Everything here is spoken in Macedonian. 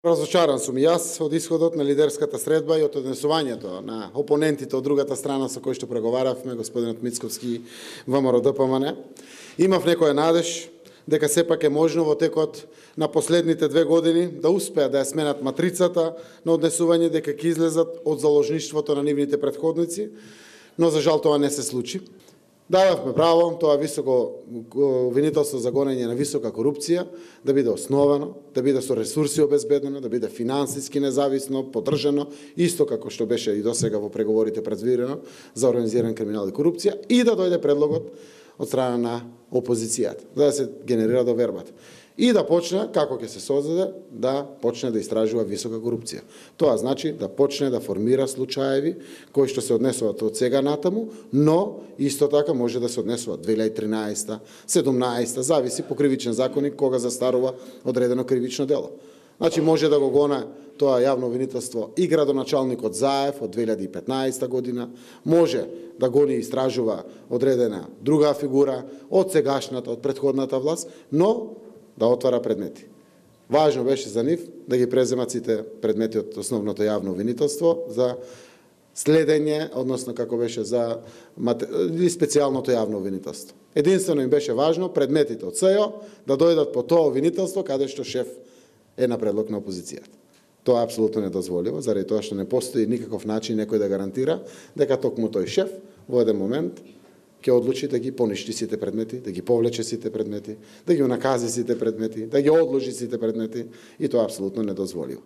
Разочаран сум и јас од исходот на лидерската средба и од однесувањето на опонентите од другата страна со кои што преговаравме, господинот Мицковски и ВМРО-ДПМН. Имав некоја надеж дека сепак е можно во текот на последните 2 години да успеат да ја сменат матрицата на однесување, дека ќе излезат од заложништвото на нивните претходници, но за жал тоа не се случи. Дадавме право тоа високо обвинителство за гонење на висока корупција да биде основано, да биде со ресурси обезбедено, да биде финансиски независно, поддржано, исто како што беше и досега во преговорите предвидено за организиран криминал и корупција, и да дојде предлогот од страна на опозицијата, за да се генерира довербата. И да почне, како ќе се создаде, да почне да истражува висока корупција. Тоа значи да почне да формира случаеви кои што се однесуваат од сега натаму, но исто така може да се однесуваат 2013, 17, зависи по кривичен законник кога застарува одредено кривично дело. Значи може да го гоне тоа јавно обвинителство и градоначалникот Заев од 2015 година, може да гони и истражува одредена друга фигура од сегашната, од претходната власт, но да отвара предмети. Важно беше за нив да ги преземат сите предмети од основното јавно обвинителство за следење, односно како беше за специјалното јавно обвинителство. Единствено им беше важно предметите од СЈО да дојдат по тоа обвинителство каде што шеф е на предлог на опозицијата. Тоа е апсолутно недозволиво, заради тоа што не постои никаков начин некој да гарантира дека токму тој шеф во еден момент ќе одлучи да ги поништи сите предмети, да ги повлече сите предмети, да ги унакази сите предмети, да ги одложи сите предмети, и тоа е апсолутно недозволиво.